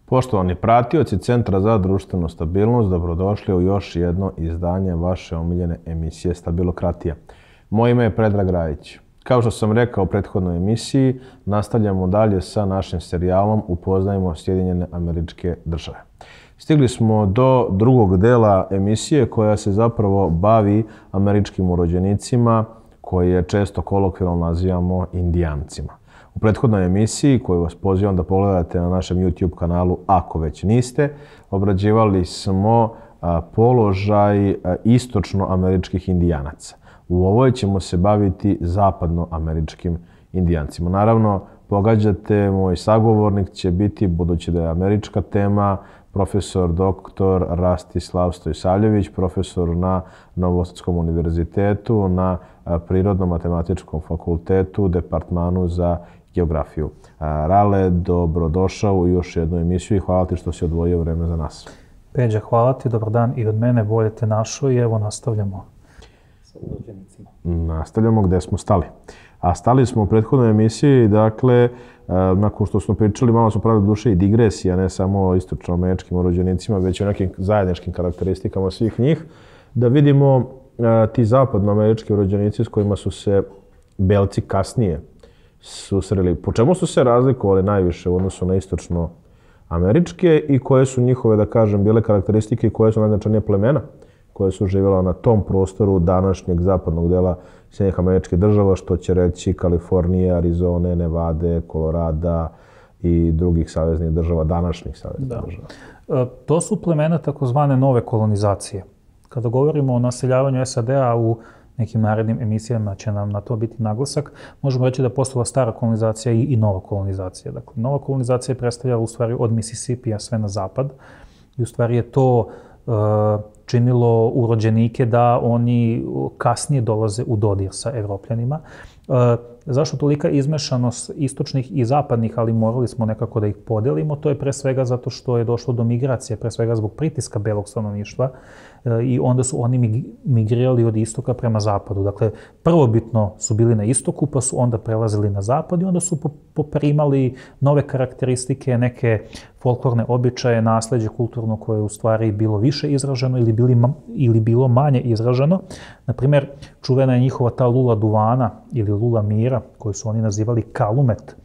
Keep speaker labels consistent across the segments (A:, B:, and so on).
A: Poštovani pratioci Centra za društvenu stabilnost, dobrodošli u još jedno izdanje vaše omiljene emisije Stabilokratija. Moje ime je Predrag Rajić. Kao što sam rekao u prethodnoj emisiji, nastavljamo dalje sa našim serijalom Upoznajmo Sjedinjene Američke Države. Stigli smo do drugog dela emisije koja se zapravo bavi američkim urođenicima koje često kolokvijalno nazivamo Indijancima. U prethodnoj emisiji, koju vas pozivam da pogledate na našem YouTube kanalu, ako već niste, obrađivali smo položaj istočnoameričkih Indijanaca. U ovoj ćemo se baviti zapadnoameričkim Indijancima. Naravno, pogađate, moj sagovornik će biti, budući da je američka tema, profesor dr. Rastislav Stojsavljević, profesor na Novosadskom univerzitetu, na Prirodno-matematičkom fakultetu, Departmanu za geografiju. Rale, dobrodošao u još jednu emisiju i hvala ti što si odvojio vreme za nas.
B: Peđa, hvala ti, dobar dan i od mene, bolje te našo i evo nastavljamo sa urođenicima.
A: Nastavljamo gde smo stali. A stali smo u prethodnoj emisiji, dakle, nakon što smo pričali, malo smo pravili duše i digresija, ne samo o istočnoameričkim urođenicima, već i o nekim zajedničkim karakteristikama svih njih, da vidimo ti zapadnoamerički urođenici s kojima su se belci kasnije susreli. Po čemu su se razlikovali najviše u odnosu na istočnoameričke i koje su njihove, da kažem, bile karakteristike i koje su najznačajnije plemena koje su živjela na tom prostoru današnjeg zapadnog dela Sjedinjenih Američkih Država, što će reći Kalifornije, Arizone, Nevade, Kolorada i drugih saveznih država, današnjih saveznih država.
B: To su plemena takozvane nove kolonizacije. Kada govorimo o naseljavanju SAD-a u nekim narednim emisijama će nam na to biti naglasak, možemo reći da postala stara kolonizacija i nova kolonizacija. Dakle, nova kolonizacija je predstavljala u stvari od Misisipija sve na zapad i u stvari je to činilo urođenike da oni kasnije dolaze u dodir sa Evropljanima. Zašto tolika izmešanost istočnih i zapadnih, ali morali smo nekako da ih podelimo? To je pre svega zato što je došlo do migracije, pre svega zbog pritiska belog stanovništva i onda su oni migrirali od istoka prema zapadu. Dakle, prvobitno su bili na istoku, pa su onda prelazili na zapad i onda su poprimali nove karakteristike, neke folklorne običaje, nasleđe kulturno koje je u stvari bilo više izraženo ili bilo manje izraženo. Naprimjer, čuvena je njihova ta lula duvana ili lula mira, koju su oni nazivali kalumet.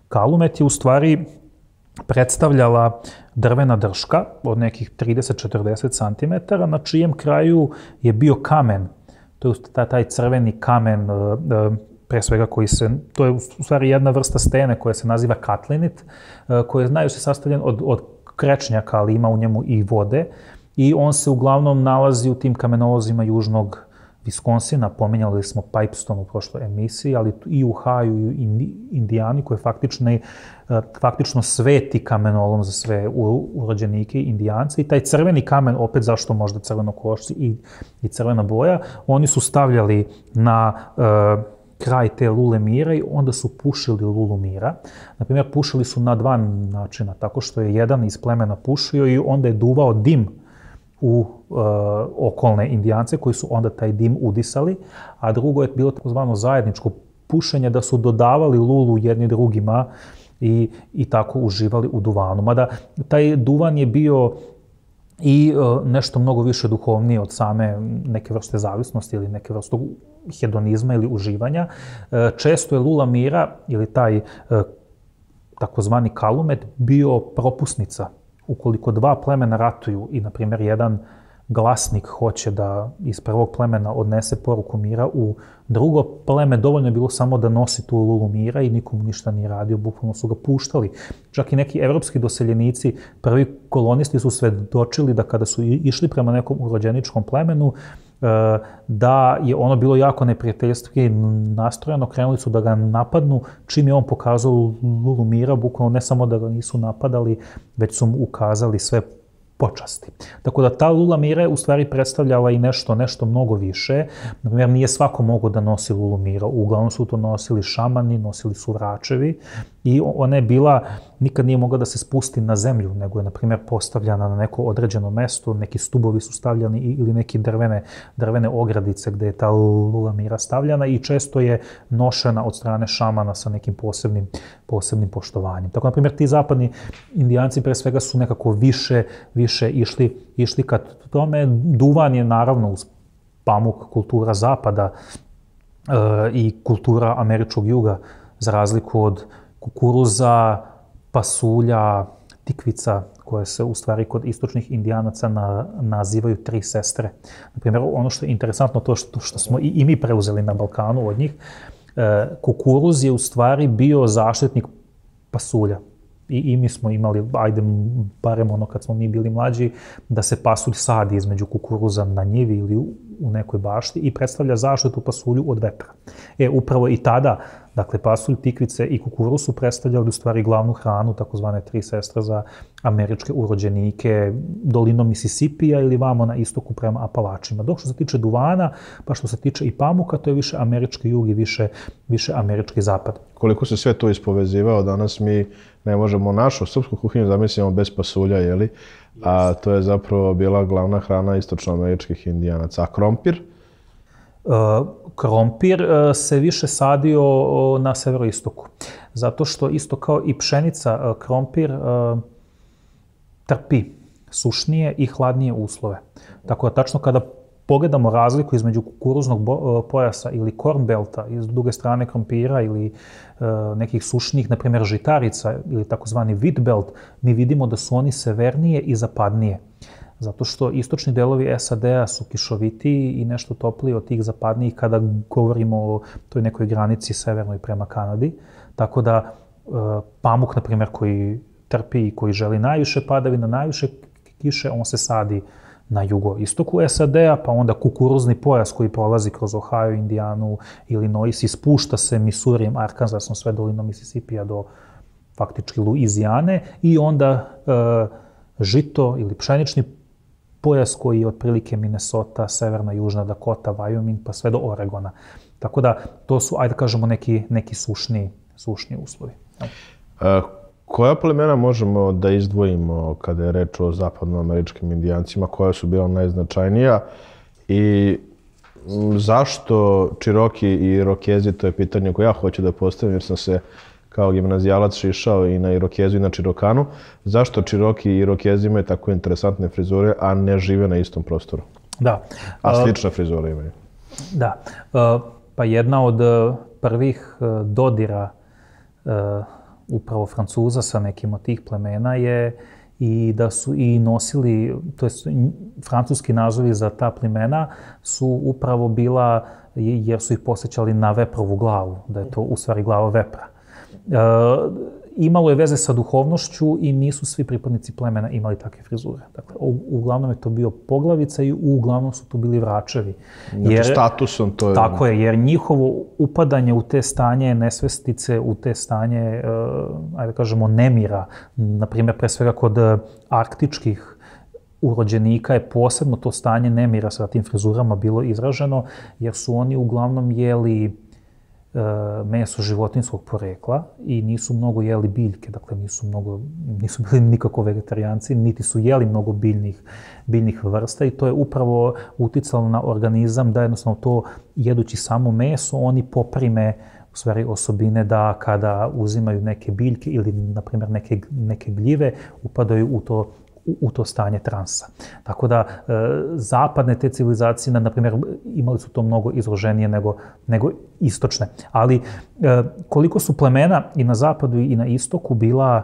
B: Kalumet je u stvari predstavljala drvena drška od nekih 30-40 cm, na čijem kraju je bio kamen. To je taj crveni kamen, pre svega to je u stvari jedna vrsta stene koja se naziva katlinit, koja je se sastavljen od krečnjaka, ali ima u njemu i vode. I on se uglavnom nalazi u tim kamenolozima južnog Viskonsina, pominjali smo Pipestone u prošloj emisiji, ali i u Ohio i Indijani, koji je faktično sveti kamenolom za sve urođenike i Indijance. I taj crveni kamen, opet zašto možda crvenokošci i crvena boja, oni su stavljali na kraj te lule mira i onda su pušili lulu mira. Naprimjer, pušili su na dva načina, tako što je jedan iz plemena pušio i onda je duvao dim u okolne Indijance koji su onda taj dim udisali, a drugo je bilo takozvano zajedničko pušenje, da su dodavali lulu jedni drugima i tako uživali u duvanu. Mada taj duvan je bio i nešto mnogo više duhovnije od same neke vrste zavisnosti ili neke vrste hedonizma ili uživanja. Često je lula mira ili taj takozvani kalumet bio propusnica. Ukoliko dva plemena ratuju i, na primjer, jedan glasnik hoće da iz prvog plemena odnese poruku mira u drugo pleme, dovoljno je bilo samo da nosi tu lulu mira i nikomu ništa nije radio, bukvalno su ga puštali. Čak i neki evropski doseljenici, prvi kolonisti su svedočili da kada su išli prema nekom urođeničkom plemenu, da je ono bilo jako neprijateljski nastrojeno, krenuli su da ga napadnu, čim je on pokazao lulu mira, bukvalno ne samo da ga nisu napadali, već su mu ukazali sve počasti. Tako da ta lula mira je u stvari predstavljala i nešto mnogo više. Naprimjer, nije svako mogao da nosi lulu mira, uglavnom su to nosili šamani, nosili su vračevi I ona je bila, nikad nije mogla da se spusti na zemlju, nego je, na primjer, postavljana na neko određeno mesto, neki stubovi su stavljani ili neki drvene ogradice gde je ta lula mira stavljana i često je nošena od strane šamana sa nekim posebnim poštovanjem. Tako, na primjer, ti zapadni indijanci pre svega su nekako više išli ka tome. Duvan je naravno uz pamuk kultura zapada i kultura američkog juga, za razliku od kukuruza, pasulja, tikvica, koje se u stvari kod istočnih indijanaca nazivaju tri sestre. Naprimjer, ono što je interesantno, to što smo i mi preuzeli na Balkanu od njih, kukuruz je u stvari bio zaštitnik pasulja. I mi smo imali, ajde, barem ono kad smo mi bili mlađi, da se pasulj sadi između kukuruza na njivi ili u nekoj bašti i predstavlja zaštitu pasulju od vetra. Upravo i tada, dakle, pasulj, tikvice i kukuruz su predstavljali u stvari glavnu hranu, takozvane tri sestre za američke urođenike dolinom Misisipija ili vamo na istoku prema Apalačima. Dok što se tiče duvana, pa što se tiče i pamuka, to je više američki jug i više američki zapad.
A: Koliko se sve to ispovezivao, danas mi ne možemo našu srpsku kuhinju zamislimo bez pasulja, jeli? A to je zapravo bila glavna hrana istočnoameričkih indijanaca. A krompir?
B: Krompir se više sadio na severoistoku. Zato što isto kao i pšenica, krompir trpi sušnije i hladnije uslove. Tako da tačno kada pogledamo razliku između kukuruznog pojasa ili corn belta i s druge strane krompira ili nekih sušnih, na primjer žitarica ili takozvani wheat belt, mi vidimo da su oni severnije i zapadnije. Zato što istočni delovi SAD-a su kišovitiji i nešto topliji od tih zapadnijih kada govorimo o toj nekoj granici severnoj prema Kanadi. Tako da pamuk, na primjer, koji trpi i koji želi najviše padavina, najviše kiše, on se sadi na jugoistoku SAD-a, pa onda kukuruzni pojas koji prolazi kroz Ohio, Indijanu, Illinois i spušta se Missourijem, Arkansasom, sve dolinom Misisipija do faktički Luizijane i onda žito ili pšenični pojas koji je otprilike Minnesota, Severna, Južna Dakota, Wyoming, pa sve do Oregona. Tako da to su, ajde kažemo, neki sušni uslovi.
A: Koja plemena možemo da izdvojimo kada je reč o zapadnoameričkim indijancima, koja su bila najznačajnija i zašto Čiroki i Irokezi, to je pitanje koje ja hoću da postavim jer sam se kao gimnazijalac šišao i na Irokezu i na Čirokanu. Zašto Čiroki i Irokezi imaju tako interesantne frizure, a ne žive na istom prostoru?
B: Da.
A: A slične frizure imaju.
B: Da. Pa jedna od prvih dodira upravo Francuza sa nekim od tih plemena je i da su i nosili, to je francuski nazovi za ta plemena su upravo bila, jer su ih posjećali na veprovu glavu, da je to u stvari glava vepra. Imalo je veze sa duhovnošću i nisu svi pripadnici plemena imali takve frizure. Dakle, uglavnom je to bio poglavica i uglavnom su to bili vračevi.
A: Znači statusom to je...
B: Tako je, jer njihovo upadanje u te stanje nesvestice, u te stanje, ajde kažemo, nemira, na primjer, pre svega kod arktičkih urođenika je posebno to stanje nemira sa tim frizurama bilo izraženo, jer su oni uglavnom jeli meso životinjskog porekla i nisu mnogo jeli biljke, dakle nisu bili nikako vegetarijanci, niti su jeli mnogo biljnih vrsta i to je upravo uticalo na organizam da jednostavno to jedući samo meso, oni poprime u stvari osobine da kada uzimaju neke biljke ili na primjer neke gljive upadaju u to stanje transa. Tako da zapadne te civilizacije, na primjer, imali su to mnogo izloženije nego istočne. Ali koliko su plemena i na zapadu i na istoku bila,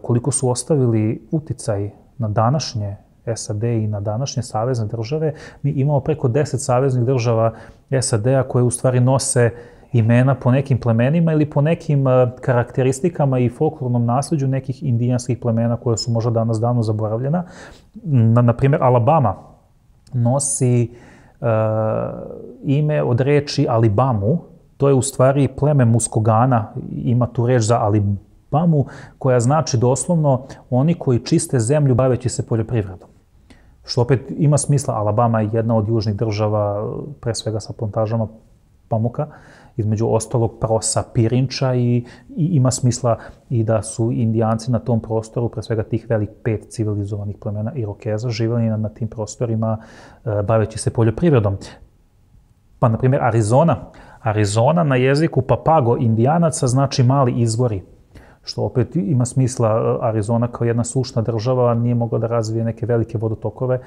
B: koliko su ostavili uticaj na današnje SAD i na današnje savezne države, mi imamo preko 10 saveznih država SAD-a koje u stvari nose imena po nekim plemenima ili po nekim karakteristikama i folklornom nasljeđu nekih indijanskih plemena koje su možda danas davno zaboravljena. Na primjer, Alabama nosi ime od reči Alibamu. To je u stvari pleme Muskogana, ima tu reč za Alibamu, koja znači doslovno oni koji čiste zemlju baveći se poljoprivredom. Što opet ima smisla, Alabama je jedna od južnih država, pre svega sa plantažama pamuka između ostalog prosa pirinča i ima smisla i da su Indijanci na tom prostoru, pre svega tih 5 civilizovanih plemena Irokeza, živjeli na tim prostorima baveći se poljoprivredom. Pa, na primjer, Arizona na jeziku Papago Indijanaca znači mali izvori, što opet ima smisla. Arizona kao jedna sušna država nije mogla da razvije neke velike vodotokove,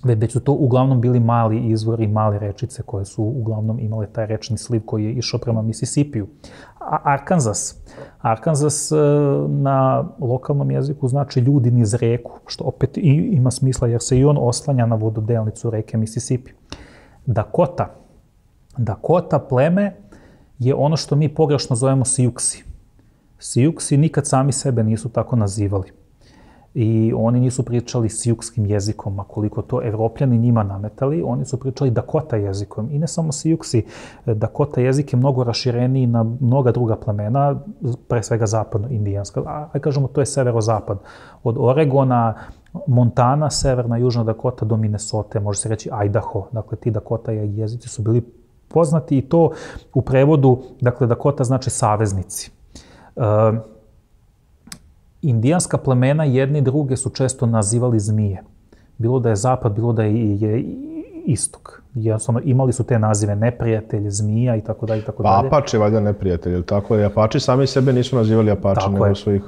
B: već su to uglavnom bili mali izvori, male rečice koje su uglavnom imale taj rečni sliv koji je išao prema Misisipiju. Arkansas na lokalnom jeziku znači ljudi niz reku, što opet ima smisla jer se i on oslanja na vododelnicu reke Misisipi. Dakota pleme je ono što mi pogrešno zovemo Sijuksi. Sijuksi nikad sami sebe nisu tako nazivali. I oni nisu pričali sijukskim jezikom, a koliko to Evropljani njima nametali, oni su pričali Dakota jezikom. I ne samo Sijuksi, Dakota jezik je mnogo rašireniji na mnoga druga plemena, pre svega zapadno-indijanska. A kažemo, to je severozapad. Od Oregona, Montana, severna, južna Dakota do Minnesota, može se reći Idaho. Dakle, ti Dakota jezici su bili poznati i to u prevodu, dakle, Dakota znači saveznici. Indijanska plemena jedni druge su često nazivali zmije. Bilo da je zapad, bilo da je istok. Jednostavno, imali su te nazive neprijatelj, zmija i tako dalje.
A: Pa Apache valjda neprijatelj, ili tako? I Apache sami sebe nisu nazivali Apache, nego su ih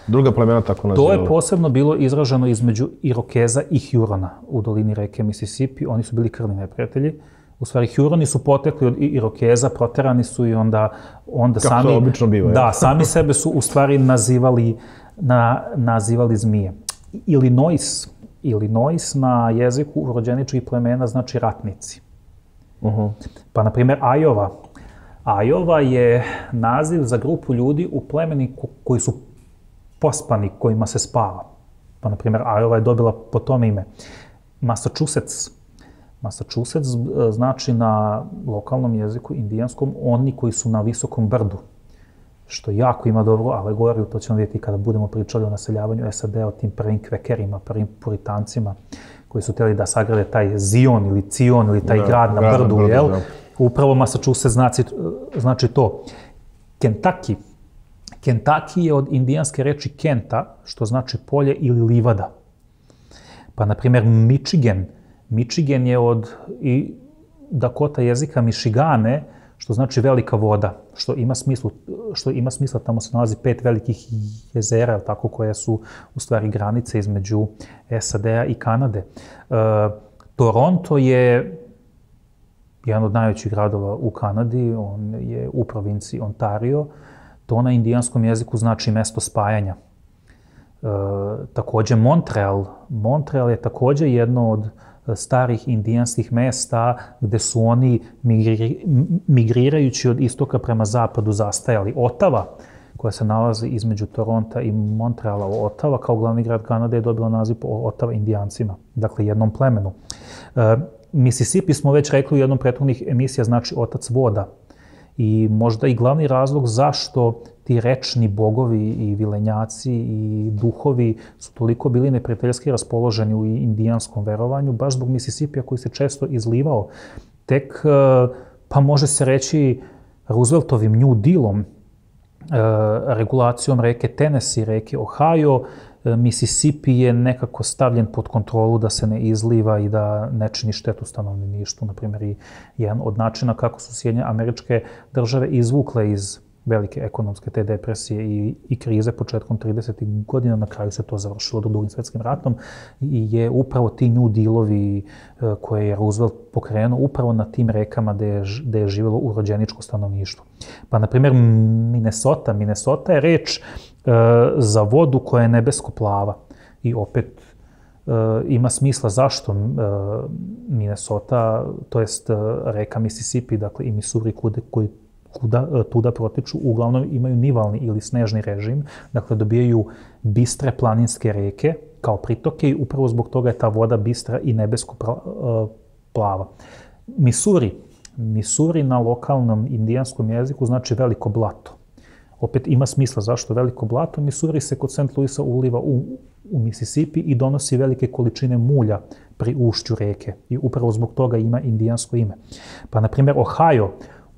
A: druga plemena tako nazivali.
B: To je posebno bilo izraženo između Irokeza i Hurona u dolini reke Mississippi. Oni su bili krvni neprijatelji. U stvari, Huroni su potekli od Irokeza, proterani su i onda sami...
A: Kako to obično biva,
B: da, sami sebe su u stvari nazivali zmije. Illinois na jeziku urođeničkih plemena znači ratnici. Pa, na primjer, Iowa je naziv za grupu ljudi u plemeni koji su pospani, kojima se spava. Pa, na primjer, Iowa je dobila po tome ime. Massachusetts znači na lokalnom jeziku indijanskom oni koji su na visokom brdu, što jako ima dobru alegoriju, to ćemo vidjeti kada budemo pričali o naseljavanju SAD-a, o tim prvim kvekerima, prvim puritancima koji su htjeli da sagrade taj Zion ili Cion ili taj grad na brdu, jel? Upravo Massachusetts znači to. Kentucky je od indijanske reči Kenta, što znači polje ili livada. Pa, na primjer, Michigan je od Dakota jezika Michigane, što znači velika voda, što ima smisla, tamo se nalazi 5 velikih jezera, tako, koje su u stvari granice između SAD-a i Kanade. Toronto je jedan od najvećih gradova u Kanadi, on je u provinciji Ontario, to na indijanskom jeziku znači mesto spajanja. Također Montreal je također jedno od starih indijanskih mesta gde su oni migrirajući od istoka prema zapadu zastajali. Ottawa, koja se nalazi između Toronta i Montreala, Ottawa kao glavni grad Kanade je dobila naziv po Ottawa Indijancima, dakle jednom plemenu. Mississippi smo već rekli u jednom prethodnih emisija znači otac voda. I možda i glavni razlog zašto ti rečni bogovi i vilenjaci i duhovi su toliko bili neprijateljski raspoloženi u indijanskom verovanju, baš zbog Mississippija koji se često izlivao. Tek, pa može se reći, Rooseveltovim New Dealom, regulacijom reke Tennessee, reke Ohio, Mississippi je nekako stavljen pod kontrolu da se ne izliva i da ne čini štetu stanovništvu. Naprimjer, i jedan od načina kako su Sjedinjene Američke Države izvukle iz velike ekonomske te depresije i krize početkom 30. godina, na kraju se to završilo Drugim svjetskim ratom, i je upravo ti New Dealovi koje je Roosevelt pokrenuo upravo na tim rekama gde je živjelo urođeničko stanovništvo. Pa, na primjer, Minnesota je reč za vodu koja je nebesko plava. I opet ima smisla zašto Minnesota, to jest reka Mississippi, dakle i Missouri koji tuda protiču, uglavnom imaju nivalni ili snežni režim, dakle dobijaju bistre planinske reke kao pritoke i upravo zbog toga je ta voda bistra i nebesko plava. Missouri na lokalnom indijanskom jeziku znači veliko blato. Opet ima smisla zašto veliko blato. Missouri se kod St. Louisa uliva u Mississippi i donosi velike količine mulja pri ušću reke i upravo zbog toga ima indijansko ime. Pa, na primjer,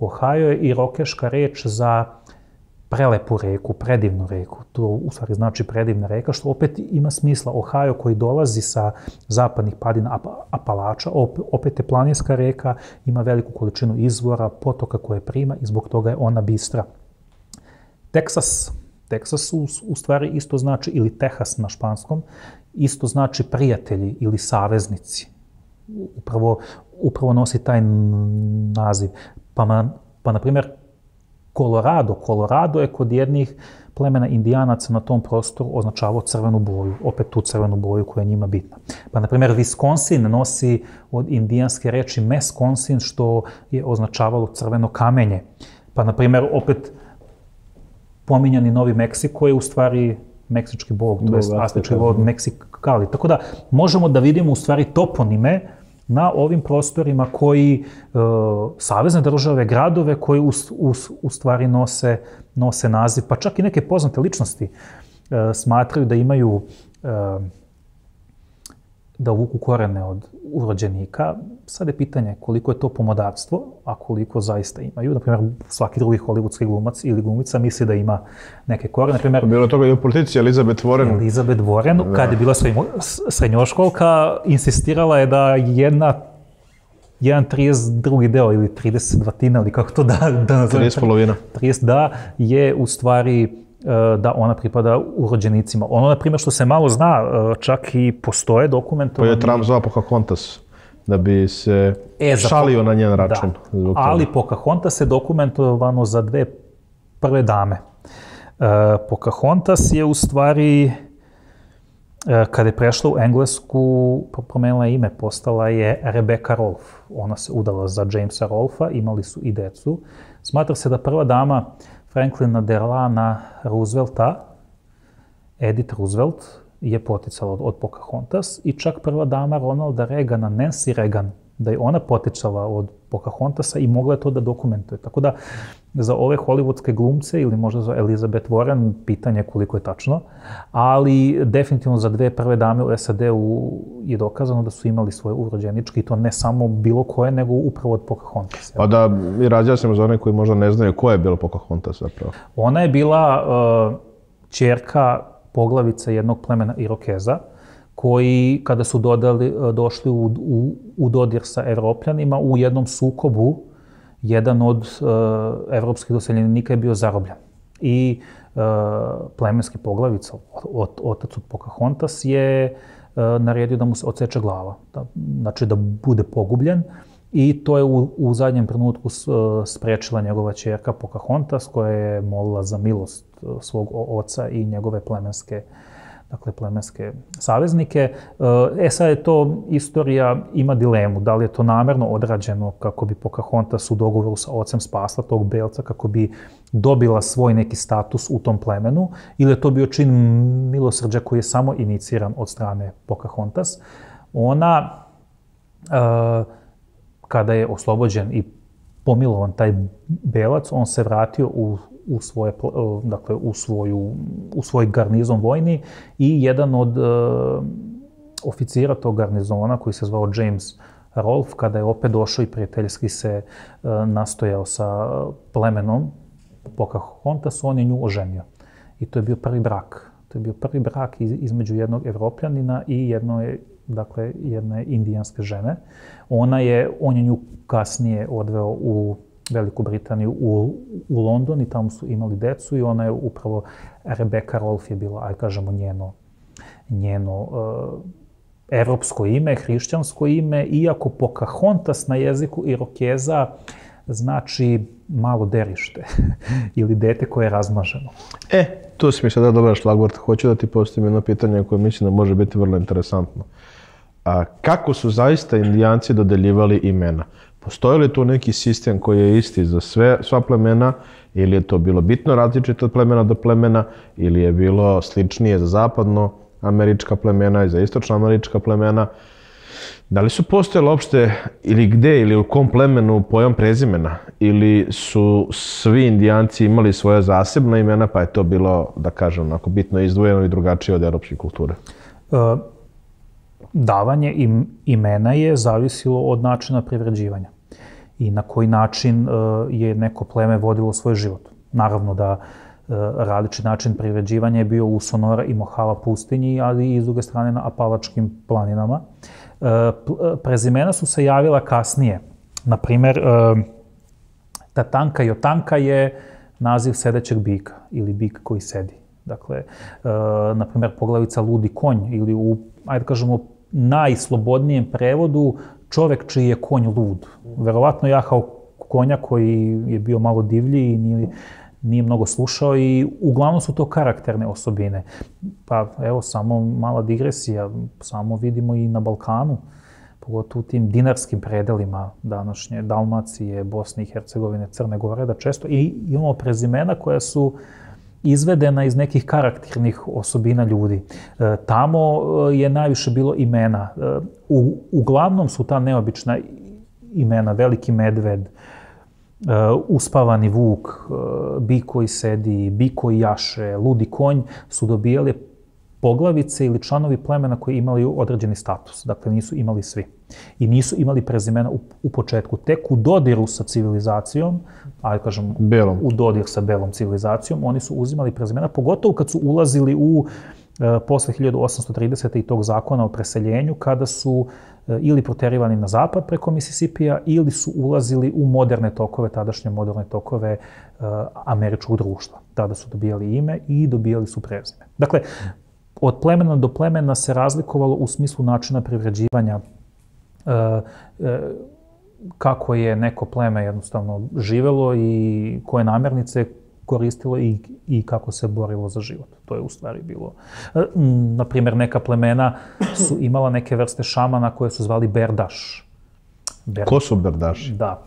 B: Ohio je irokeška reč za prelepu reku, predivnu reku. To u stvari znači predivna reka, što opet ima smisla. Ohio koji dolazi sa zapadnih padina Apalača, opet je planinska reka, ima veliku količinu izvora, potoka koje prima i zbog toga je ona bistra. Teksas u stvari isto znači, ili Texas na španskom, isto znači prijatelji ili saveznici. Upravo nosi taj naziv. Pa na primjer, Colorado je kod jednih plemena indijanaca na tom prostoru označavao crvenu boju, opet tu crvenu boju koja je njima bitna. Pa na primjer, Wisconsin nosi od indijanske reči Mesconsin, što je označavalo crveno kamenje. Pa na primjer, opet pominjani Novi Meksiko je u stvari meksički bog, to je astički bog Meksikali. Tako da možemo da vidimo u stvari toponime na ovim prostorima koji, savezne države, gradove koji u stvari nose naziv, pa čak i neke poznate ličnosti smatraju da imaju, da uvuku korene od urođenika. Sad je pitanje koliko je to pomodarstvo, a koliko zaista imaju. Naprimjer, svaki drugi hollywoodski glumac ili glumica misli da ima neke korene. Naprimjer,
A: bilo toga i u politici Elizabeth Warren.
B: Elizabeth Warren, kad je bila srednjoškolka, insistirala je da jedan 32. deo ili 32. ili kako to da nazovem.
A: 30
B: 30 da je u stvari da ona pripada urođenicima. Ono, na primjer, što se malo zna, čak i postoje dokumentovani...
A: Pa je Trump zvao Pocahontas, da bi se šalio na njen račun.
B: Da, ali Pocahontas je dokumentovano za dve prve dame. Pocahontas je u stvari, kada je prešla u Englesku, promenila ime, postala je Rebecca Rolfe. Ona se udala za Jamesa Rolfa, imali su i decu. Smatra se da prva dama Franklina Delana Roosevelta, Edith Roosevelt, je poticala od Pocahontas i čak prva dama Ronalda Reagana, Nancy Reagan, da je ona poticala od Pocahontas i mogla je to da dokumentuje. Tako da za ove hollywoodske glumce ili možda za Elizabeth Warren pitanje koliko je tačno, ali definitivno za dve prve dame u SAD-u je dokazano da su imali svoje urođeničke i to ne samo bilo koje, nego upravo od Pocahontas.
A: Pa da i razjasnimo za one koji možda ne znaju ko je bila Pocahontas zapravo.
B: Ona je bila ćerka poglavica jednog plemena Irokeza, koji, kada su došli u dodir sa Evropljanima, u jednom sukobu, jedan od evropskih doseljenika je bio zarobljen. I plemenski poglavica, otac od Pocahontas, je naredio da mu se odseče glava, znači da bude pogubljen. I to je u zadnjem trenutku sprečila njegova ćerka Pocahontas, koja je molila za milost svog oca i njegove plemenske saveznike. Sad je to, istorija ima dilemu, da li je to namerno odrađeno kako bi Pocahontas u dogovoru sa ocem spasla tog belca, kako bi dobila svoj neki status u tom plemenu, ili je to bio čin milosrđa koji je samo iniciran od strane Pocahontas. Ona, kada je oslobođen i pomilovan taj belac, on se vratio u svoj garnizon vojni i jedan od oficira tog garnizona, koji se zvao James Rolfe, kada je opet došao i prijateljski se nastojao sa plemenom Pocahontas, on je nju oženio. I to je bio prvi brak. To je bio prvi brak između jednog Evropljanina i jedne indijanske žene. On je nju kasnije odveo u Veliku Britaniju, u London, i tamo su imali decu i ona je upravo, Rebecca Rolfe je bila, aj kažemo, njeno evropsko ime, hrišćansko ime, iako Pocahontas na jeziku Irokeza znači malo derište ili dete koje je razmaženo.
A: Tu si mi sada dobar šlagvort. Hoću da ti postavim jedno pitanje koje mislim da može biti vrlo interesantno. Kako su zaista indijanci dodeljivali imena? Postoji li tu neki sistem koji je isti za sva plemena, ili je to bilo bitno različito od plemena do plemena, ili je bilo sličnije za zapadnoamerička plemena i za istočnoamerička plemena? Da li su postojali uopšte, ili gde, ili u kom plemenu pojam prezimena? Ili su svi indijanci imali svoje zasebna imena, pa je to bilo, da kažem, onako bitno izdvojeno i drugačije od evropske kulture?
B: Davanje imena je zavisilo od načina privređivanja. i na koji način je neko pleme vodilo svoj život. Naravno da različit način privređivanja je bio u Sonora i Mojave pustinji, ali i s druge strane na Apalačkim planinama. Prezimena su se javila kasnije. Naprimer, Tatanka i Otanka je naziv sedećeg bika ili bik koji sedi. Dakle, naprimer, poglavica Ludi konj ili u, ajde kažemo, najslobodnijem prevodu čovek čiji je konj lud. Verovatno jahao konja koji je bio malo divlji i nije mnogo slušao i uglavnom su to karakterne osobine. Pa evo, samo mala digresija, samo vidimo i na Balkanu, pogotovo u tim dinarskim predelima današnje Dalmacije, Bosne i Hercegovine, Crne Gore, da često imamo prezimena koja su izvedena iz nekih karakternih osobina ljudi. Tamo je najviše bilo imena. Uglavnom su ta neobična imena, Veliki medved, Uspavani vuk, bik koji sedi, bik koji jaše, Ludi konj, su dobijali poglavice ili članovi plemena koji imali određeni status. Dakle, nisu imali svi. I nisu imali prezimena u početku. Tek u dodiru sa civilizacijom, ajde kažem, u dodir sa belom civilizacijom, oni su uzimali prezimena, pogotovo kad su ulazili u posle 1830. i tog zakona o preseljenju, kada su ili proterivani na zapad preko Misisipija ili su ulazili u moderne tokove, tadašnje moderne tokove američkog društva. Tada su dobijali ime i dobijali su prezime. Dakle, od plemena do plemena se razlikovalo u smislu načina privređivanja, kako je neko pleme jednostavno živelo i koje namirnice koristilo i kako se borilo za život. To je u stvari bilo. Naprimjer, neka plemena su imala neke vrste šamana koje su zvali berdaš.
A: Ko su berdaši?
B: Da.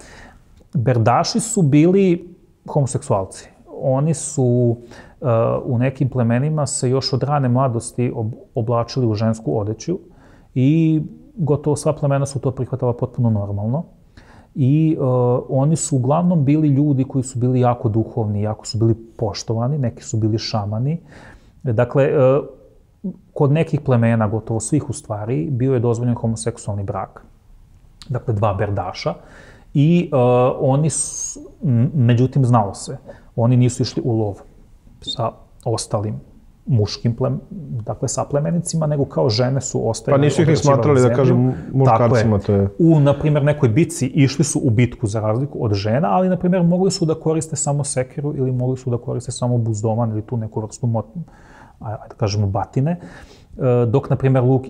B: Berdaši su bili homoseksualci. Oni su u nekim plemenima se još od rane mladosti oblačili u žensku odeću i gotovo sva plemena su to prihvatala potpuno normalno. I oni su uglavnom bili ljudi koji su bili jako duhovni, jako su bili poštovani, neki su bili šamani. Dakle, kod nekih plemena, gotovo svih u stvari, bio je dozvoljen homoseksualni brak. Dakle, dva berdaša. I oni su, međutim, znalo se, oni nisu išli u lov sa ostalim muškim dakle, saplemenicima, nego kao žene su ostajale.
A: Pa nisu ih ni smatrali, da kažem, muškarcima, to je.
B: U, na primjer, nekoj bitci išli su u bitku za razliku od žena, ali, na primjer, mogli su da koriste samo sekiru ili mogli su da koriste samo buzdoman ili tu neku vrstu, da kažemo, batine, dok, na primjer, luk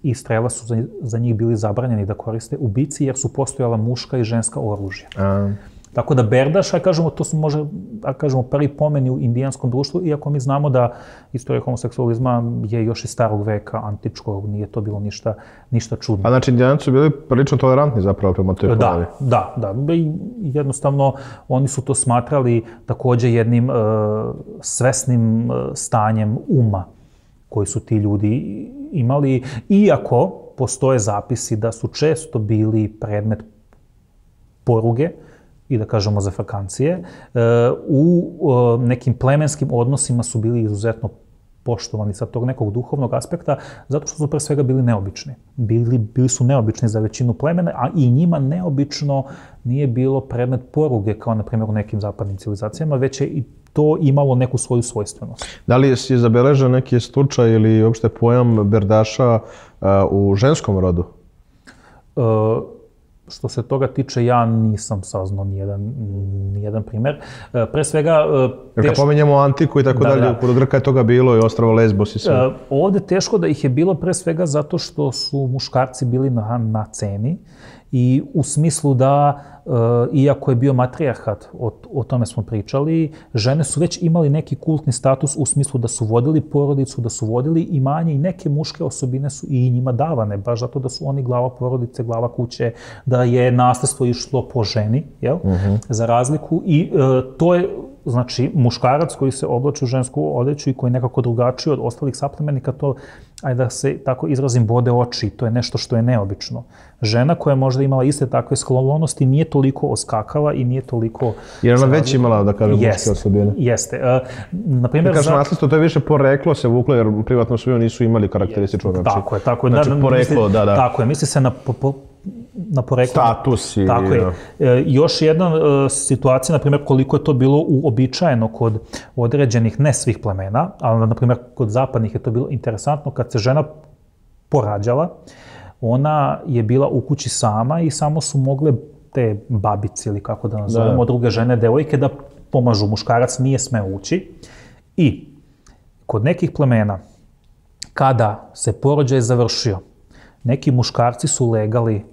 B: i strela su za njih bili zabranjeni da koriste u bitci, jer su postojala muška i ženska oružja. Tako da berdaš, kažemo, to su možda, kažemo, prvi pomeni u indijanskom društvu, iako mi znamo da istorija homoseksualizma je još iz starog veka, antičkog, nije to bilo ništa čudno.
A: A znači, indijanci su bili prilično tolerantni zapravo prema toj pojavi?
B: Da. Jednostavno, oni su to smatrali takođe jednim svesnim stanjem uma koji su ti ljudi imali, iako postoje zapisi da su često bili predmet poruge i da kažemo zafrkancije, u nekim plemenskim odnosima su bili izuzetno poštovani sa tog nekog duhovnog aspekta, zato što su pre svega bili neobični. Bili su neobični za većinu plemena, a i njima neobično nije bilo predmet poruge, kao na primjer u nekim zapadnim civilizacijama, već je i to imalo neku svoju svojstvenost.
A: Da li je zabeležen neki slučaj ili uopšte pojam berdaša u ženskom rodu?
B: Što se toga tiče, ja nisam saznao nijedan primer. Pre svega...
A: Kad pominjemo antiku i tako dalje, kod Grka je toga bilo i ostrvo Lesbos i sve.
B: Ovde teško da ih je bilo pre svega zato što su muškarci bili na ceni i u smislu da, iako je bio matrijarhat, o tome smo pričali, žene su već imali neki kultni status u smislu da su vodili porodicu, da su vodili imanje i neke muške osobine su i njima davane, baš zato da su oni glava porodice, glava kuće, da je nasledstvo išlo po ženi, jel? Za razliku. I to je, znači, muškarac koji se oblači u žensku odeću i koji je nekako drugačiji od ostalih saplemenika, to, ajde da se tako izrazim, bode oči, to je nešto što je neobično. Žena koja je možda imala iste takve sklonosti nije toliko oskakala i nije toliko...
A: Jer ona već imala, da kažem, muške osobine.
B: Jeste.
A: Da kažem, nasledstvo, to je više poreklo se vuklo, jer privatno svoju nisu imali karakteristično.
B: Tako je.
A: Znači, poreklo, da.
B: Tako je, misli se na poreklu.
A: Status i...
B: Tako je. Još jedna situacija, na primjer, koliko je to bilo uobičajeno kod određenih, ne svih plemena, ali, na primjer, kod zapadnih je to bilo interesantno, kad se žena porađala, ona je bila u kući sama i samo su mogle te babice, ili kako da nazovemo, druge žene, devojke, da pomažu. Muškarac nije smeo ući. I kod nekih plemena, kada se porođaj završio, neki muškarci su legali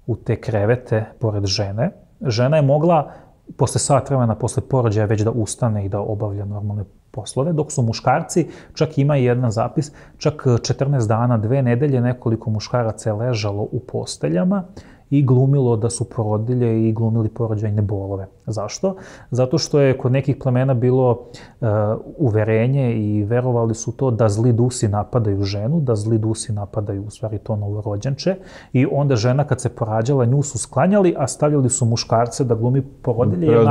B: u te krevete pored žene. Žena je mogla posle sat vremena, posle porođaja, već da ustane i da obavlja normalne poslove, dok su muškarci, čak ima i jedan zapis, čak 14 dana, 2 nedelje, nekoliko muškaraca je ležalo u posteljama i glumilo da su porodilje i glumili porođajne bolove. Zašto? Zato što je kod nekih plemena bilo uverenje i verovali su to da zli dusi napadaju ženu, da zli dusi napadaju u stvari to novorođenče, i onda žena kad se porađala, nju su sklanjali, a stavljali su muškarce da glumi porodilje, jer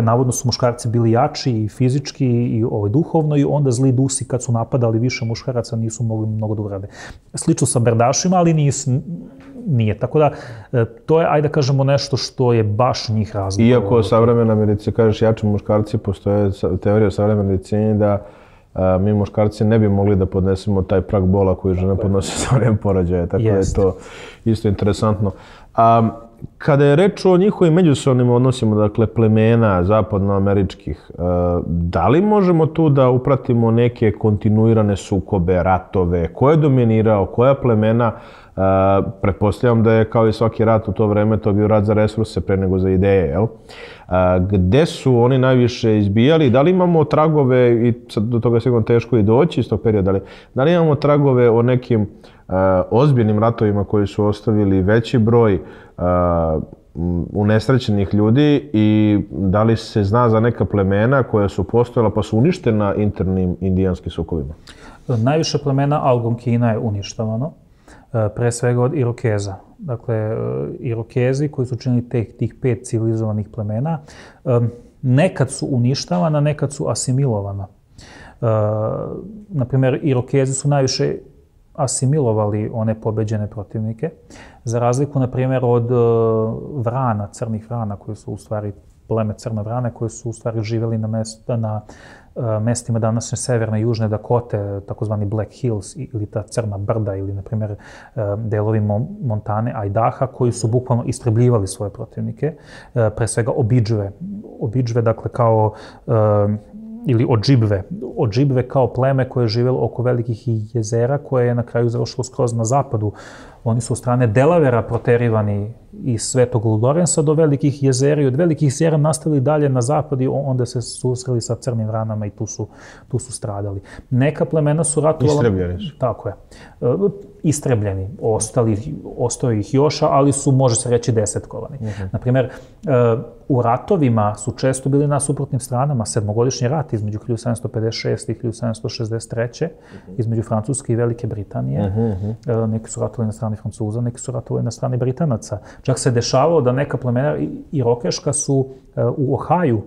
B: navodno su muškarci bili jači i fizički i duhovno, i onda zli dusi kad su napadali više muškaraca nisu mogli mnogo da urade. Slično sa berdašima, ali nije. Tako da, to je, ajde da kažemo, nešto što je baš njih razlikovalo.
A: Iako u savremenoj medicini, kažeš jači muškarci, postoje teorije u savremenoj medicini da mi muškarci ne bi mogli da podnesemo taj prag bola koji žena podnosi sa vreme porođaja. Tako da je to isto interesantno. Kada je reč o njihovim međusobnim odnosima, dakle plemena zapadnoameričkih, da li možemo tu da upratimo neke kontinuirane sukobe, ratove? Ko je dominirao, koja plemena? Pretpostavljam da je kao i svaki rat u to vreme to bio rat za resurse pre nego za ideje, jel? Gde su oni najviše izbijali? Da li imamo tragove, i do toga je sigurno teško i doći iz tog perioda, da li imamo tragove o nekim ozbiljnim ratovima koji su ostavili veći broj unesrećenih ljudi, i da li se zna za neka plemena koja su postojala pa su uništena internim indijanskim sukobima?
B: Najviše plemena Algonkina je uništavano, pre svega od Irokeza. Dakle, Irokezi koji su činili tih 5 civilizovanih plemena, nekad su uništavana, nekad su asimilovana. Naprimjer, Irokezi su najviše asimilovali one pobeđene protivnike, za razliku, na primjer, od vrana, crnih vrana, koji su u stvari pleme crne vrane, koji su u stvari živjeli na mestima današnje severne i južne Dakote, takozvani Black Hills ili ta crna brda, ili, na primjer, delovi Montane, Idaha, koji su bukvalno istrebljivali svoje protivnike, pre svega Obidžve, dakle, kao ili Odžibve kao pleme koje je živjelo oko velikih jezera, koje je na kraju završilo skroz na zapadu. Oni su od strane Delavera proterivani iz Svetog Ludorensa do velikih jezera, i od velikih jezera nastavili dalje na zapad i onda se susreli sa crnim vranama i tu su stradali. Neka plemena su ratovala...
A: Istrebljeni su.
B: Tako je. Istrebljeni. Ostao ih još, ali su, može se reći, desetkovani. Naprimjer, u ratovima su često bili na suprotnim stranama. Sedmogodišnji rat između 1756. i 1763. između Francuske i Velike Britanije. Neki su ratovali na strani Francuza, neki su ratovali na strani Britanaca. Čak se dešavalo da neka plemena irokeška su u Ohaju,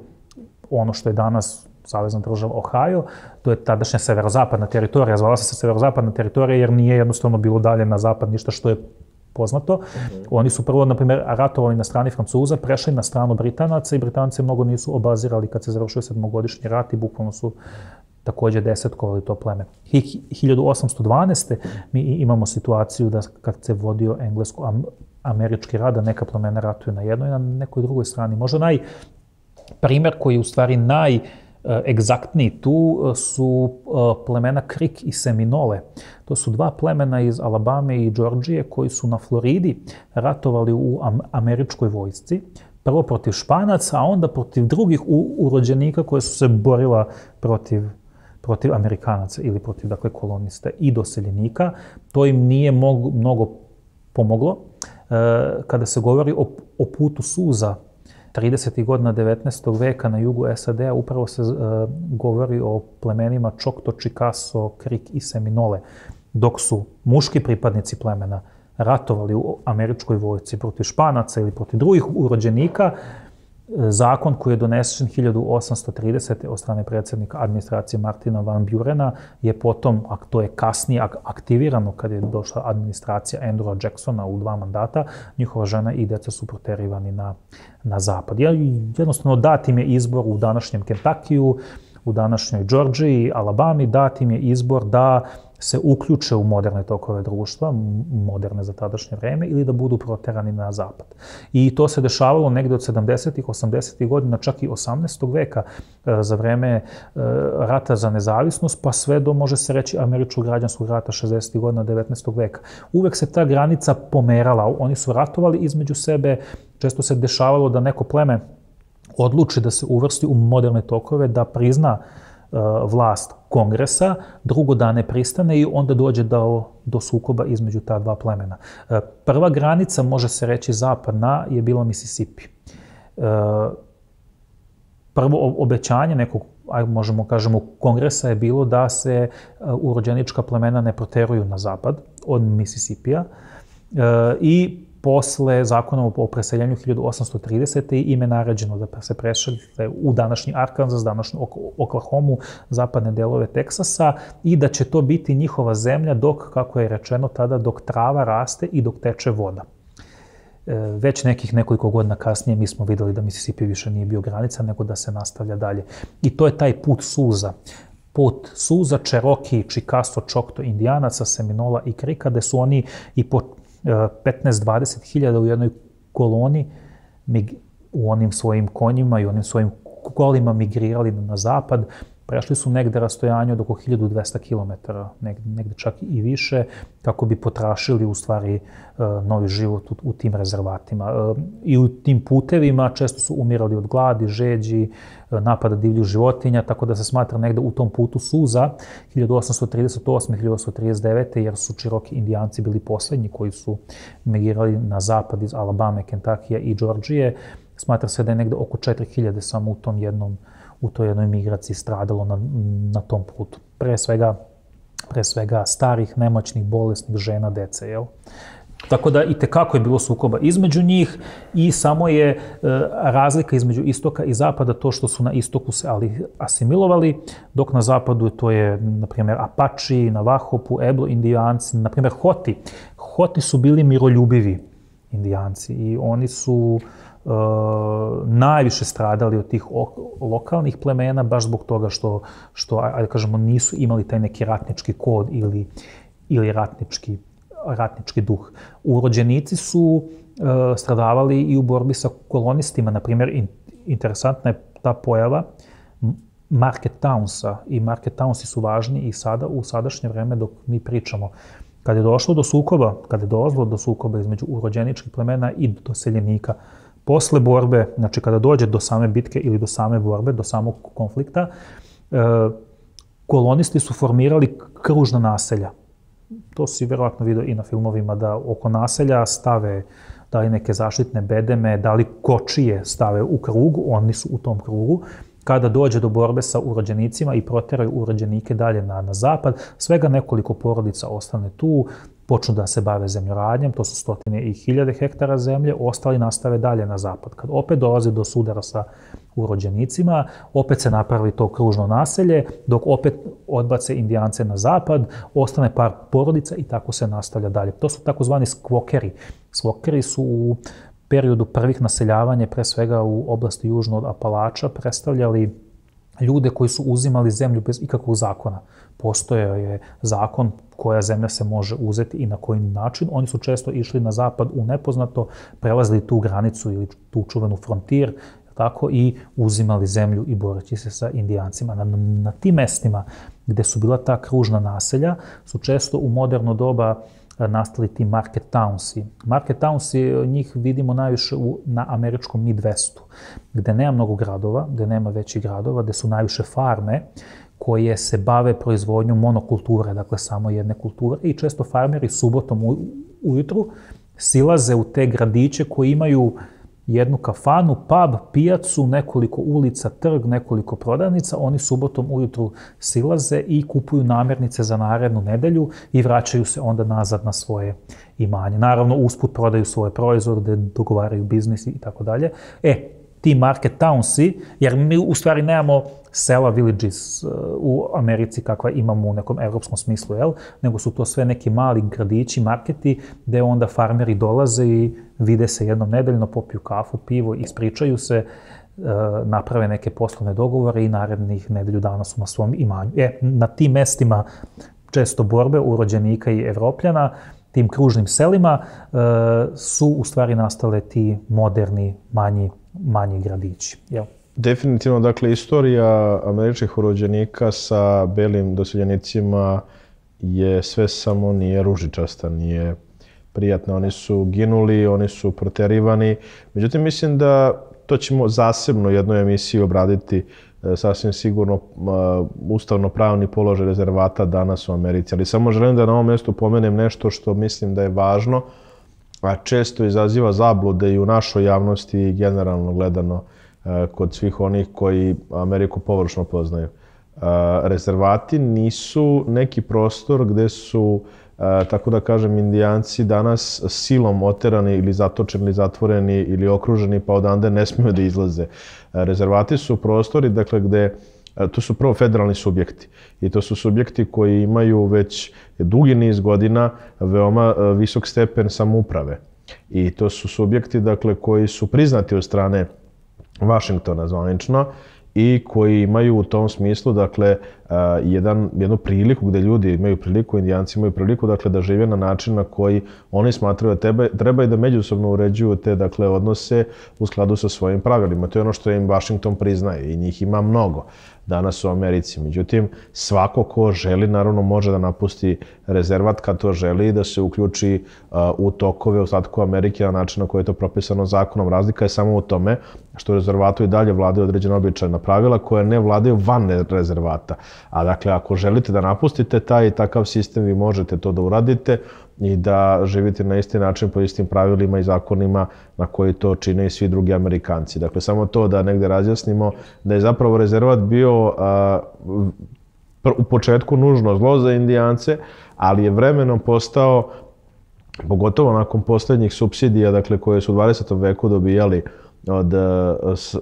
B: ono što je danas savezna država Ohio, to je tadašnja severozapadna teritorija, zvala se severozapadna teritorija jer nije jednostavno bilo dalje na zapad ništa što je poznato. Oni su prvo, na primjer, ratovali na strani Francuza, prešli na stranu Britanaca i Britanci mnogo nisu obazirali kad se završio sedmogodišnji rat i bukvalno su također desetkovali to pleme. 1812. mi imamo situaciju da kad se vodio englesko-američki rat, da neka plemena ratuju na jednoj i na nekoj drugoj strani. Možda primjer koji je u stvari najegzaktniji tu su plemena Creek i Seminole. To su 2 plemena iz Alabame i Džordžije koji su na Floridi ratovali u američkoj vojsci. Prvo protiv Španaca, a onda protiv drugih urođenika koje su se borila protiv Amerikanaca ili protiv, dakle, kolonista i doseljenika. To im nije mnogo pomoglo. Kada se govori o putu suza 30. godina 19. veka na jugu SAD-a, upravo se govori o plemenima Choctaw, Chickasaw, Creek i Seminole. Dok su muški pripadnici plemena ratovali u američkoj vojsci protiv Španaca ili protiv drugih urođenika, zakon koji je donesen 1830. od strane predsjednika administracije Martina van Burena je potom, a to je kasnije aktivirano kad je došla administracija Andrewa Jacksona u 2 mandata, njihova žena i djeca su proterivani na zapad. Jednostavno dat im je izbor u današnjem Kentakiju, u današnjoj Georgiji, Alabami, dat im je izbor da se uključe u moderne tokove društva, moderne za tadašnje vreme, ili da budu proterani na zapad. I to se dešavalo negde od 70-ih, 80-ih godina, čak i 18. veka, za vreme rata za nezavisnost, pa sve do, može se reći, američkog građanskog rata 60-ih godina 19. veka. Uvek se ta granica pomerala, oni su ratovali između sebe, često se dešavalo da neko pleme odluči da se uvrsti u moderne tokove, da prizna vlast kongresa, drugo da ne pristane i onda dođe do sukoba između ta 2 plemena. Prva granica, može se reći zapadna, je bila Mississippi. Prvo obećanje nekog, možemo kažemo, kongresa je bilo da se urođenička plemena ne proteruju na zapad od Mississippija i posle zakona o preseljenju 1830. im je naređeno da se presele u današnji Arkansas, današnju Oklahomu, zapadne delove Teksasa i da će to biti njihova zemlja dok, kako je rečeno tada, dok trava raste i dok teče voda. Već nekoliko godina kasnije mi smo videli da Mississippi više nije bio granica, nego da se nastavlja dalje. I to je taj put suza. Put suza, Cherokee, Chickasaw, Choctaw, Indijanaca, Seminola i Krika, gde su oni i po 15-20 hiljada u jednoj koloni u onim svojim konjima i onim svojim kolima migrirali na zapad. Prešli su negde rastojanje od oko 1200 km, negde čak i više, kako bi potrašili u stvari novi život u tim rezervatima. I u tim putevima često su umirali od gladi, žeđi, napada divljih životinja, tako da se smatra negde u tom putu suza 1838-1839. jer su Cherokee Indijanci bili poslednji koji su migrirali na zapad iz Alabame, Kentakija i Georgije. Smatra se da je negde oko 4000 samo u toj jednoj migraciji stradalo na tom putu. Pre svega starih, nemoćnih, bolesnih žena, dece, jel? Tako da i tekako je bilo sukoba između njih i samo je razlika između istoka i zapada to što su na istoku se asimilovali, dok na zapadu to je, na primjer, Apache, Navajo, Pueblo, Indijanci, na primjer Hoti. Hoti su bili miroljubivi Indijanci i oni su najviše stradali od tih lokalnih plemena, baš zbog toga što ajde kažemo, nisu imali taj neki ratnički kod ili ratnički duh. Urođenici su stradavali i u borbi sa kolonistima. Na primjer, interesantna je ta pojava market townsa i market townsi su važni i sada u sadašnje vreme dok mi pričamo. Kad je dolazilo do sukoba između urođeničkih plemena i doseljenika, posle borbe, znači kada dođe do same bitke ili do same borbe, do samog konflikta, kolonisti su formirali kružna naselja. To si vjerovatno vidio i na filmovima, da oko naselja stave da li neke zaštitne bedeme, da li kočije stave u krugu, oni su u tom krugu. Kada dođe do borbe sa urođenicima i proteraju urođenike dalje na zapad, svega nekoliko porodica ostane tu, počnu da se bave zemljoradnjem, to su stotine i hiljade hektara zemlje, ostali nastave dalje na zapad. Kad opet dolazi do sudara sa urođenicima, opet se napravi to kružno naselje, dok opet odbace Indijance na zapad, ostane par porodica i tako se nastavlja dalje. To su takozvani skvokeri. Skvokeri su u periodu prvih naseljavanja, pre svega u oblasti južno od Apalača, predstavljali ljude koji su uzimali zemlju bez ikakvog zakona. Postojao je zakon koja zemlja se može uzeti i na koji način. Oni su često išli na zapad u nepoznato, prelazili tu granicu ili tu čuvenu frontir, tako i uzimali zemlju i boreći se sa Indijancima. Na tim mestima gde su bila ta kružna naselja su često u moderno doba nastali ti market townsi. Market townsi, njih vidimo najviše na američkom Midwestu, gde nema mnogo gradova, gde nema većih gradova, gde su najviše farme koje se bave proizvodnjom monokulture, dakle samo jedne kulture, i često farmeri subotom ujutru silaze u te gradiće koji imaju jednu kafanu, pub, pijacu, nekoliko ulica, trg, nekoliko prodavnica. Oni subotom ujutru silaze i kupuju namirnice za narednu nedelju i vraćaju se onda nazad na svoje imanje. Naravno, usput prodaju svoje proizvode, dogovaraju biznis i tako dalje. ti market townsi, jer mi u stvari nemamo sela, villages u Americi kakva imamo u nekom evropskom smislu, nego su to sve neki mali gradići, marketi, gde onda farmeri dolaze i vide se jednom nedeljno, popiju kafu, pivo, ispričaju se, naprave neke poslovne dogovore i narednih nedelju dana su na svom imanju. Na tim mestima često borbe urođenika i Evropljana, tim kružnim selima, su u stvari nastale ti moderni, manji gradići.
A: Definitivno, dakle, istorija američkih urođenika sa belim doseljenicima je sve samo nije ružičasta, nije prijatna. Oni su ginuli, oni su proterivani. Međutim, mislim da to ćemo zasebno u jednoj emisiji obraditi sasvim sigurno ustavno-pravni položaj rezervata danas u Americi. Ali samo želim da na ovom mjestu pomenem nešto što mislim da je važno, a često izaziva zablude i u našoj javnosti i generalno gledano kod svih onih koji Ameriku površno poznaju. Rezervati nisu neki prostor gde su, tako da kažem, Indijanci danas silom oterani ili zatočeni ili zatvoreni ili okruženi pa odande ne smiju da izlaze. Rezervati su prostori, dakle, gde to su prvo federalni subjekti i to su subjekti koji imaju već dugi niz godina veoma visok stepen samouprave. I to su subjekti, dakle, koji su priznati od strane Vašingtona zvanično i koji imaju u tom smislu, dakle, jednu priliku gde ljudi imaju priliku, Indijanci imaju priliku, dakle, da žive na način na koji oni smatraju da treba i da međusobno uređuju te, dakle, odnose u skladu sa svojim pravilima. To je ono što im Vašington priznaje i njih ima mnogo danas u Americi. Međutim, svako ko želi, naravno, može da napusti rezervat kad to želi i da se uključi u tokove ostatku Amerike na način na koji je to propisano zakonom. Razlika je samo u tome što u rezervatu i dalje vladaju određena običajna pravila koje ne vladaju van rezervata. A dakle, ako želite da napustite taj i takav sistem, vi možete to da uradite i da živite na isti način po istim pravilima i zakonima na koji to čine i svi drugi Amerikanci. Dakle, samo to da negde razjasnimo da je zapravo rezervat bio u početku nužno zlo za Indijance, ali je vremenom postao, pogotovo nakon poslednjih supsidija, dakle, koje su u 20. veku dobijali od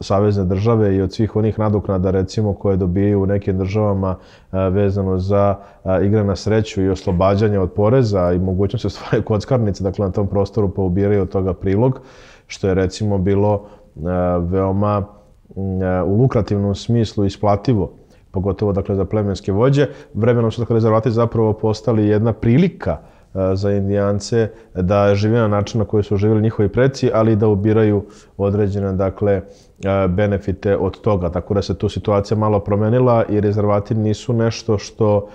A: savezne države i od svih onih nadoknada, recimo, koje dobijaju u nekim državama vezano za igre na sreću i oslobađanje od poreza i mogućnost stvaraju kockarnice, dakle, na tom prostoru pa ubiraju od toga prilog, što je, recimo, bilo veoma u lukrativnom smislu isplativo, pogotovo, dakle, za plemenske vođe. Vremenom su, dakle, rezervati zapravo postali jedna prilika za Indijance da žive na način na koji su živjeli njihovi preci, ali i da ubiraju određene, dakle, benefite od toga. Tako da se tu situacija malo promenila i rezervati nisu nešto što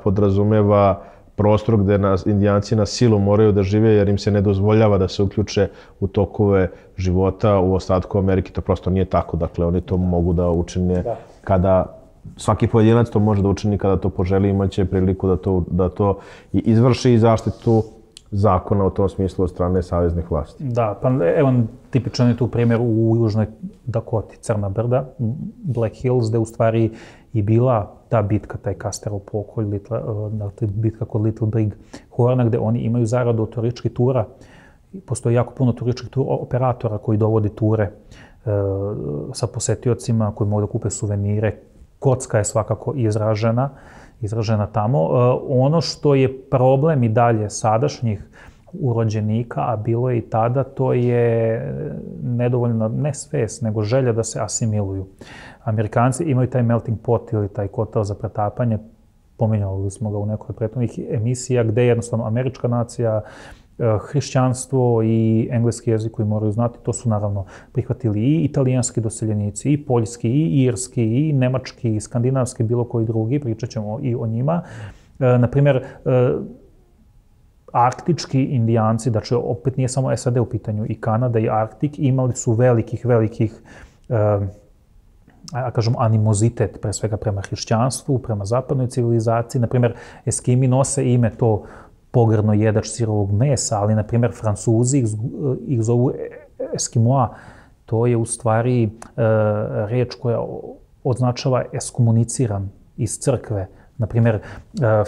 A: podrazumeva prostor gde Indijanci na silu moraju da žive jer im se ne dozvoljava da se uključe u tokove života u ostatku Amerike. To prosto nije tako. Dakle, oni to mogu da učine kada svaki pojedinac to može da učini kada to poželi, imaće priliku da to i izvrši i zaštitu zakona u tom smislu od strane saveznih vlasti.
B: Da, pa evo tipičan je tu primjer u Južnoj Dakoti, Crna brda, Black Hills, gde u stvari i bila ta bitka, taj Custerov pokolj, bitka kod Little Big Horna, gde oni imaju zaradu od turističkih tura. Postoji jako puno turističkih operatora koji dovodi ture sa posetiocima koji mogu da kupe suvenire. Kocka je svakako izražena tamo. Ono što je problem i dalje sadašnjih urođenika, a bilo je i tada, to je nedovoljno, ne svest, nego želja da se asimiluju. Amerikanci imaju taj melting pot ili taj kotel za pretapanje, pominjali smo ga u nekoj prethodnih emisija, gde jednostavno američka nacija, hrišćanstvo i engleski jezik koji moraju znati, to su naravno prihvatili i italijanski doseljenici, i poljski, i irski, i nemački, i skandinavski, bilo koji drugi, pričat ćemo i o njima. Naprimjer, arktički Indijanci, znači opet nije samo SAD u pitanju, i Kanada i Arktik, imali su velikih, kažem, animozitet, pre svega prema hrišćanstvu, prema zapadnoj civilizaciji. Naprimjer, Eskimi nose ime to pogrdno jedač sirovog mesa, ali, na primjer, Francuzi ih zovu Eskimoa. To je u stvari reč koja označava ekskomuniciran iz crkve. Na primjer,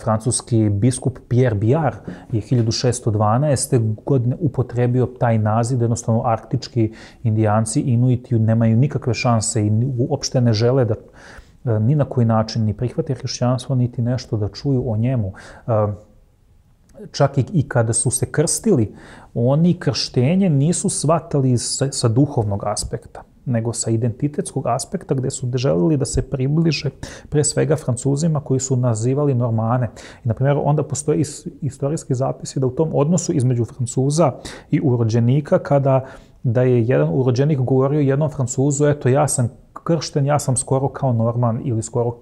B: francuski biskup Pierre Biard je 1612. godine upotrebio taj naziv da jednostavno arktički indijanci, inuiti, nemaju nikakve šanse i uopšte ne žele da ni na koji način ni prihvate hrišćanstvo, niti nešto da čuju o njemu. Čak i kada su se krstili, oni krštenje nisu shvatali sa duhovnog aspekta, nego sa identitetskog aspekta, gde su želeli da se približe pre svega Francuzima koji su nazivali Normane. I, na primjer, onda postoje istorijski zapisi da u tom odnosu između Francuza i urođenika, da je jedan urođenik govorio jednom Francuzu, eto, ja sam kršten, ja sam skoro kao Norman ili skoro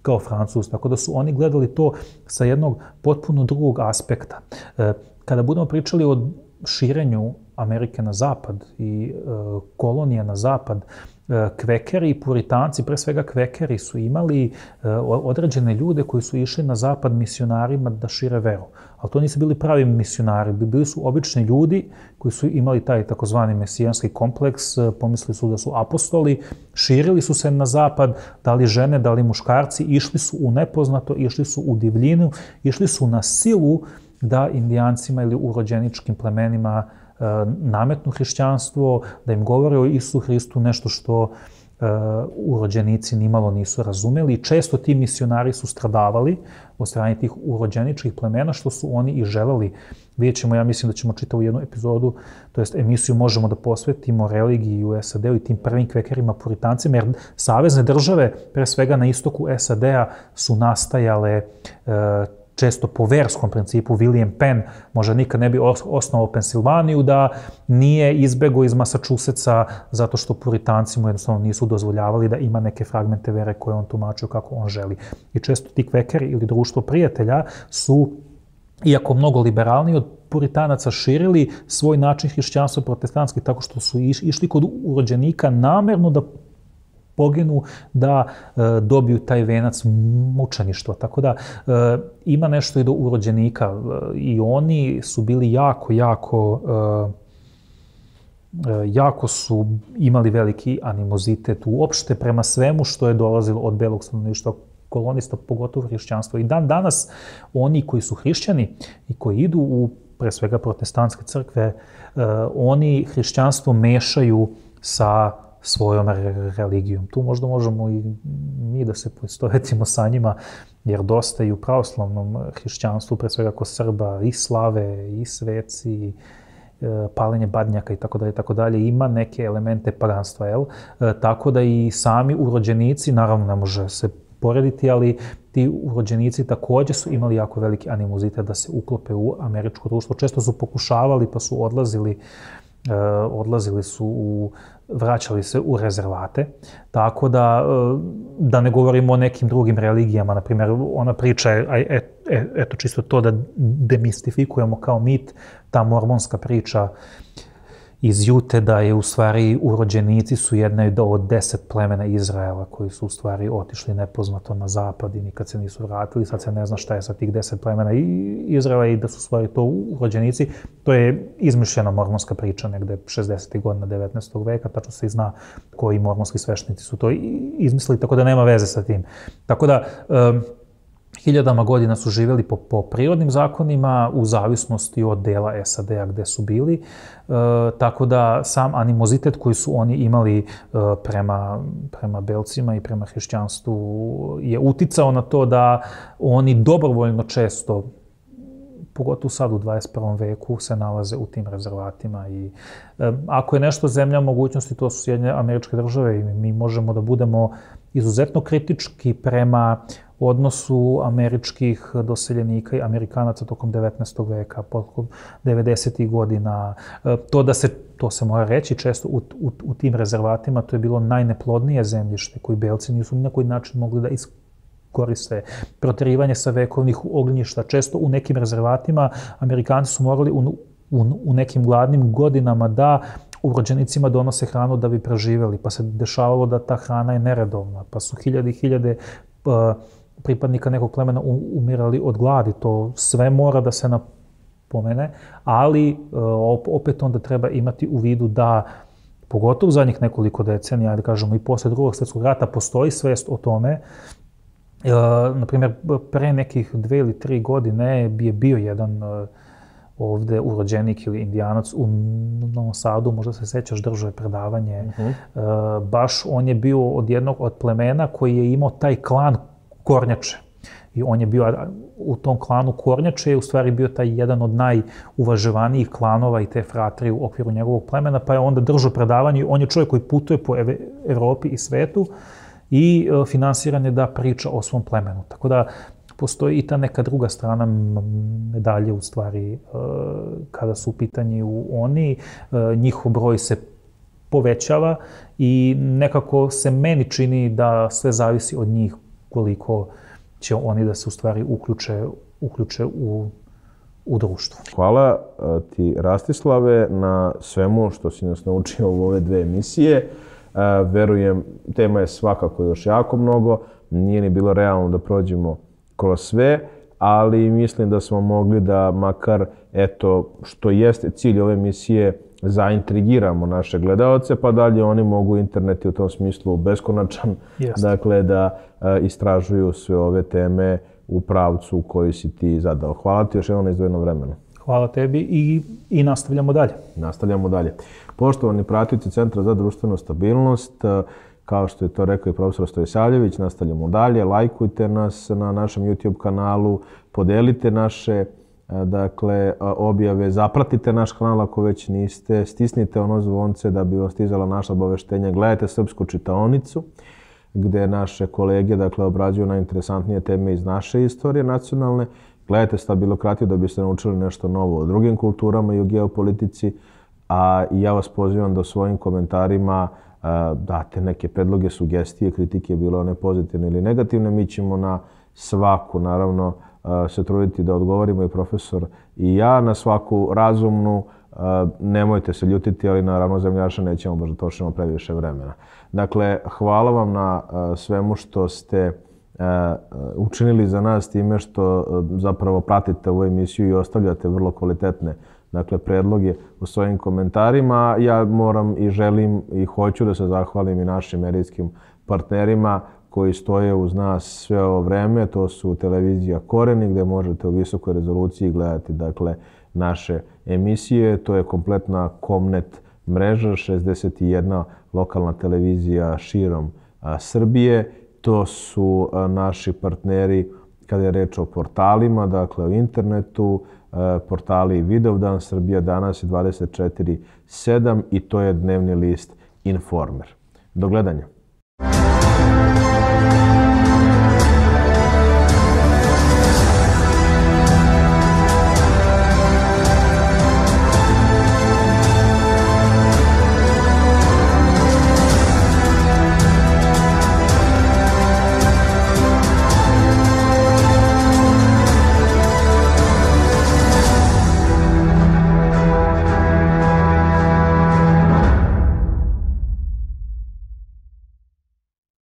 B: kao Francuz. Tako da su oni gledali to sa jednog potpuno drugog aspekta. Kada budemo pričali o širenju Amerike na zapad i kolonija na zapad, kvekeri i puritanci, pre svega kvekeri, su imali određene ljude koji su išli na zapad misionarima da šire veru. Ali to nisu bili pravi misionari, bili su obični ljudi koji su imali taj takozvani mesijanski kompleks, pomislili su da su apostoli, širili su se na zapad, da li žene, da li muškarci, išli su u nepoznato, išli su u divljinu, išli su na silu da indijancima ili urođeničkim plemenima nametnu hrišćanstvo, da im govore o Isusu Hristu, nešto što urođenici nimalo nisu razumeli. I često ti misionari su stradavali od strane tih urođeničkih plemena, što su oni i želeli. Vidjet ćemo, ja mislim da ćemo čitavu jednu epizodu, to jest emisiju, možemo da posvetimo religiji u SAD-u i tim prvim kvekerima puritancima, jer savezne države, pre svega na istoku SAD-a, su nastajale često po verskom principu. William Penn možda nikad ne bi osnovao Pensilvaniju da nije izbegao iz Massachusettsa zato što puritanci mu jednostavno nisu dozvoljavali da ima neke fragmente vere koje on tumačio kako on želi. I često ti kvekeri ili društvo prijatelja su, iako mnogo liberalniji od puritanaca, širili svoj način hrišćanstva protestantski tako što su išli kod urođenika namerno da poginu, da dobiju taj venac mučeništva. Tako da ima nešto i do urođenika i oni su bili jako su imali veliki animozitet uopšte prema svemu što je dolazilo od belog stanovništva kolonista, pogotovo hrišćanstvo. I dan danas oni koji su hrišćani i koji idu u pre svega protestantske crkve, oni hrišćanstvo mešaju sa svojom religijom. Tu možda možemo i mi da se poistovetimo sa njima, jer dosta i u pravoslavnom hrišćanstvu, pre svega kod Srba, i slave, i sveci, paljenje badnjaka i tako dalje, ima neke elemente paganstva, jel? Tako da i sami urođenici, naravno ne može se porediti, ali ti urođenici takođe su imali jako veliki animozitet da se uklope u američko društvo. Često su pokušavali pa su odlazili su vraćali se u rezervate, tako da ne govorimo o nekim drugim religijama. Na primjer, ona priča, eto čisto to da demistifikujemo kao mit, ta mormonska priča iz Jute da je u stvari urođenici su jedna od 10 plemena Izraela koji su u stvari otišli nepoznato na zapad i nikad se nisu vratili. Sad se ne zna šta je sa tih 10 plemena Izraela i da su u stvari to urođenici. To je izmišljena mormonska priča negde 60. godina 19. veka, tačno se i zna koji mormonski sveštenici su to izmislili, tako da nema veze sa tim. Tako da hiljadama godina su živjeli po prirodnim zakonima u zavisnosti od dela SAD-a gde su bili, tako da sam animozitet koji su oni imali prema belcima i prema hrišćanstvu je uticao na to da oni dobrovoljno često, pogotovo sad u 21. veku, se nalaze u tim rezervatima. I ako je nešto zemlja mogućnosti, to su Sjedinjene Američke Države i mi možemo da budemo izuzetno kritički prema odnosu američkih doseljenika i Amerikanaca tokom 19. veka, tokom 90. godina. To se mora reći često u tim rezervatima, to je bilo najneplodnije zemljište koji belci nisu ni na koji način mogli da iskoriste. Proterivanje sa vekovnih ognjišta. Često u nekim rezervatima Amerikanci su morali u nekim gladnim godinama da urođenicima donose hranu da bi preživeli, pa se dešavalo da ta hrana je neredovna, pa su hiljade i hiljade pripadnika nekog plemena umirali od gladi. To sve mora da se napomene, ali opet onda treba imati u vidu da, pogotovo u zadnjih nekoliko decenija, da kažemo i posle Drugog svjetskog rata, postoji svest o tome Na primjer, pre nekih 2 ili 3 godine je bio jedan ovde urođenik ili indijanac u Novom Sadu, možda se sećaš, držao je predavanje. Baš on je bio od jednog od plemena koji je imao taj klan Kornjače. I on je bio u tom klanu Kornjače, je u stvari bio taj jedan od najuvažavanijih klanova i te fratrije u okviru njegovog plemena, pa je onda držao predavanje. On je čovjek koji putuje po Evropi i svetu i finansiran je da priča o svom plemenu. Tako da postoji i ta neka druga strana medalje, u stvari, kada su u pitanju oni, njihov broj se povećava i nekako se meni čini da sve zavisi od njih koliko će oni da se u stvari uključe u društvo.
A: Hvala ti, Rastislave, na svemu što si nas naučio u ove 2 emisije. Verujem, tema je svakako još jako mnogo, nije ni bilo realno da prođemo kroz sve, ali mislim da smo mogli da makar, eto, što jeste cilj ove emisije, zaintrigiramo naše gledaoce, pa dalje oni mogu, internet je u tom smislu beskonačan, dakle da istražuju sve ove teme u pravcu koji si ti zadao. Hvala ti još jednom na izdvojenom vremenu.
B: Hvala tebi i nastavljamo dalje.
A: Nastavljamo dalje. Poštovani pratioci Centra za društvenu stabilnost, kao što je to rekao i profesor Stojosavljević, nastavljamo dalje. Lajkujte nas na našem YouTube kanalu, podelite naše objave, zapratite naš kanal ako već niste, stisnite ono zvonce da bi vam stizala naša obaveštenja. Gledajte Srpsku čitaonicu, gde naše kolege obrađuju najinteresantnije teme iz naše istorije nacionalne. Gledajte Stabilokratiju da biste naučili nešto novo o drugim kulturama i o geopolitici. A ja vas pozivam da svojim komentarima date neke predloge, sugestije, kritike, bilo one pozitivne ili negativne. Mi ćemo na svaku, naravno, se truditi da odgovorimo, i profesor i ja, na svaku razumnu. Nemojte se ljutiti, ali naravno zemljaša nećemo baš da trošimo previše vremena. Dakle, hvala vam na svemu što ste učinili za nas time što zapravo pratite ovu emisiju i ostavljate vrlo kvalitetne predloge u svojim komentarima. Ja moram i želim i hoću da se zahvalim i našim medijskim partnerima koji stoje uz nas sve ovo vreme. To su televizija Koreni, gde možete u visokoj rezoluciji gledati naše emisije. To je kompletna Komnet mreža, 61 lokalna televizija širom Srbije. To su naši partneri kada je reč o portalima, o internetu, portali Vidovdan, Srbija danas i 24/7 i to je dnevni list Informer. Do gledanja.